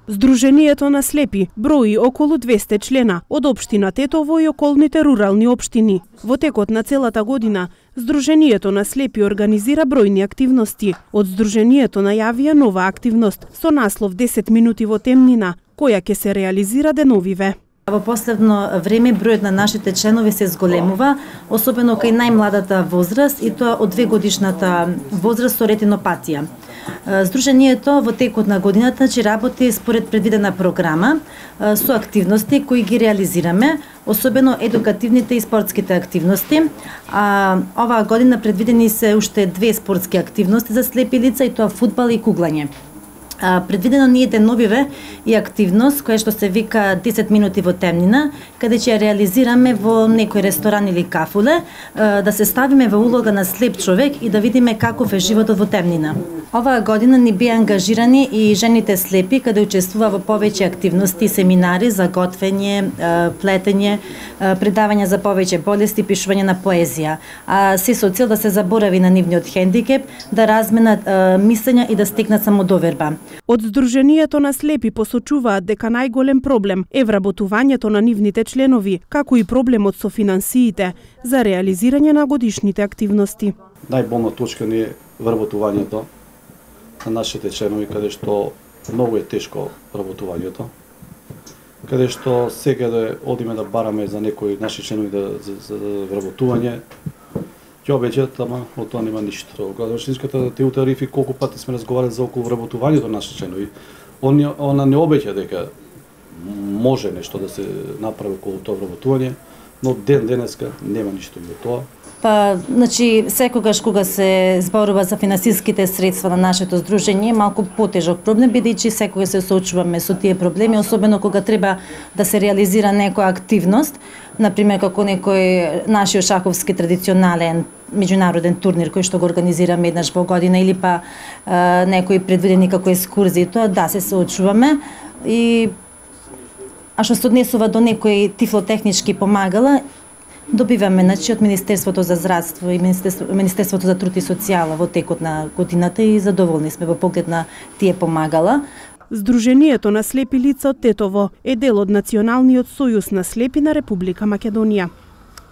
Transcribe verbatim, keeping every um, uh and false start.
Здруженијето на слепи брои околу двесте члена од општина Тетово и околните рурални општини. Во текот на целата година, Здруженијето на слепи организира бројни активности. Од Здруженијето најавија нова активност со наслов десет минути во темнина, која ќе се реализира деновиве. Во последно време бројот на нашите членови се зголемува, особено кај најмладата возраст и тоа од две годишната возраст со ретинопатија. Здруженијето во текот на годината ќе работи според предвидена програма со активности кои ги реализираме, особено едукативните и спортските активности. А, оваа година предвидени се уште две спортски активности за слепи лица, и тоа фудбал и куглање. А, предвидено ни е деновиве и активност која што се вика десет минути во темнина, каде ќе ја реализираме во некој ресторан или кафуле, а, да се ставиме во улога на слеп човек и да видиме каков е животот во темнина. Оваа година ни беа ангажирани и жените слепи, каде учествува во повеќе активности, семинари за готвење, плетење, предавања за повеќе болести, пишување на поезија. А се со цел да се заборави на нивниот хендикеп, да разменат мислења и да стекнат самодоверба. Од Здруженијето на слепи посочуваат дека најголем проблем е вработувањето на нивните членови, како и проблемот со финансиите за реализирање на годишните активности. Најболна точка ни е вработувањето на нашите членови, каде што многу е тешко вработувањето, каде што секаде одиме да бараме за некои наши членови да, за, за вработување, ќе обеќаат, ама од тоа нема ништо. Градоопштинската ТУ тарифи колку пати сме разговарали за околу вработувањето на нашите членови, он, она не обеќа дека може нешто да се направи околу тоа вработување, но ден денеска нема ништо од тоа. Па, значи, секогаш кога се зборува за финансиските средства на нашето здружение, малку потежок проблем, бидејќи секогаш се соочуваме со тие проблеми, особено кога треба да се реализира некоја активност, например како некој нашиот шаховски традиционален меѓународен турнир кој што го организираме еднаш во година, или па а, некои предвидени како екскурзии, тоа да се соочуваме. И а што се однесува до некои тифлотехнички помагала, добиваме значи од Министерството за здравство и Министерство, Министерството за труд и социјала во текот на годината и задоволни сме во поглед на тие помагала. Здруженијето на слепи лица од Тетово е дел од Националниот сојуз на слепи на Република Македонија.